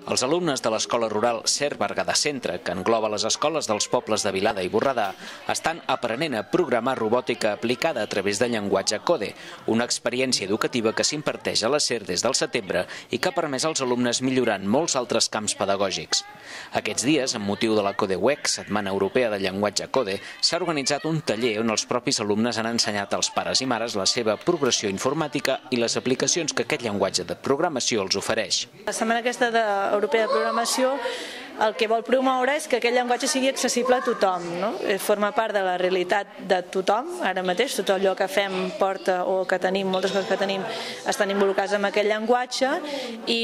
Els alumnes de l'Escola Rural Ser Berguedà Centre, que engloba les escoles dels pobles de Vilada i Borredà, estan aprenent a programar robòtica aplicada a través de llenguatge Code, una experiència educativa que s'imparteix a la Ser des del setembre i que ha permès als alumnes millorar en molts altres camps pedagògics. Aquests dies, amb motiu de la Code Week, Setmana Europea de Llenguatge Code, s'ha organitzat un taller on els propis alumnes han ensenyat als pares i mares la seva progressió informàtica i les aplicacions que aquest llenguatge de programació els ofereix. La setmana aquesta Europea de Programació el que vol promoure és que aquest llenguatge sigui accessible a tothom, no? Forma part de la realitat de tothom, ara mateix tot allò que fem porta o que tenim, moltes coses que tenim estan involucrats en aquest llenguatge i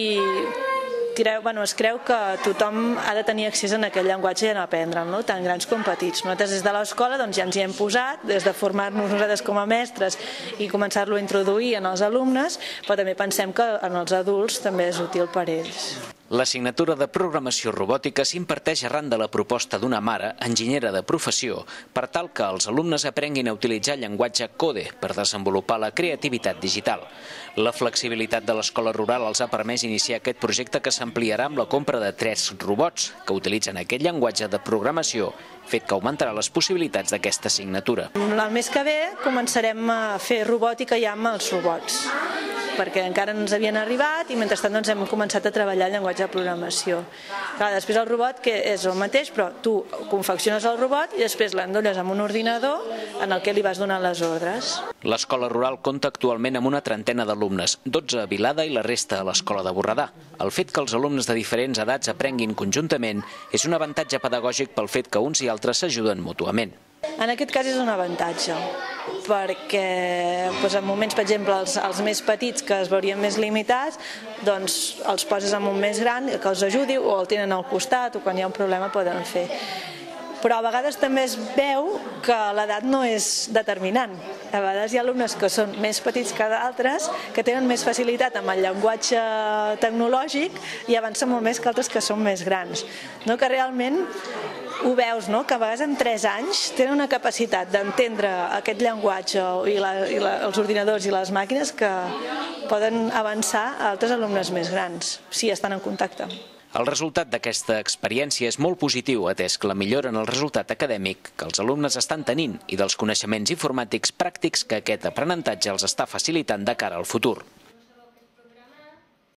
es creu que tothom ha de tenir accés a aquest llenguatge i a aprendre'l, no? Tant grans com petits. Nosaltres des de l'escola ja ens hi hem posat, des de formar-nos nosaltres com a mestres i començar-lo a introduir en els alumnes, però també pensem que en els adults també és útil per a ells. L'assignatura de programació robòtica s'imparteix arran de la proposta d'una mare, enginyera de professió, per tal que els alumnes aprenguin a utilitzar el llenguatge Code per desenvolupar la creativitat digital. La flexibilitat de l'escola rural els ha permès iniciar aquest projecte que s'ampliarà amb la compra de 3 robots que utilitzen aquest llenguatge de programació, fet que augmentarà les possibilitats d'aquesta assignatura. El mes que ve començarem a fer robòtica ja amb els robots, perquè encara no ens havien arribat i mentrestant hem començat a treballar el llenguatge de programació. Clar, després el robot que és el mateix, però tu confecciones el robot i després l'endolles amb un ordinador en el que li vas donar les ordres. L'escola rural compta actualment amb una trentena d'alumnes, 12 a Vilada i la resta a l'escola de Borredà. El fet que els alumnes de diferents edats aprenguin conjuntament és un avantatge pedagògic pel fet que uns i altres s'ajuden mútuament. En aquest cas és un avantatge, perquè en moments, per exemple, els més petits que es veurien més limitats, doncs els poses amb un més gran que els ajudi o el tenen al costat o quan hi ha un problema poden fer. Però a vegades també es veu que l'edat no és determinant. A vegades hi ha alumnes que són més petits que d'altres, que tenen més facilitat amb el llenguatge tecnològic i avancen molt més que altres que són més grans. No, que realment ho veus, no? Que a vegades en 3 anys tenen una capacitat d'entendre aquest llenguatge i els ordinadors i les màquines que poden avançar a altres alumnes més grans, si estan en contacte. El resultat d'aquesta experiència és molt positiu, atès que la millora en el resultat acadèmic que els alumnes estan tenint i dels coneixements informàtics pràctics que aquest aprenentatge els està facilitant de cara al futur.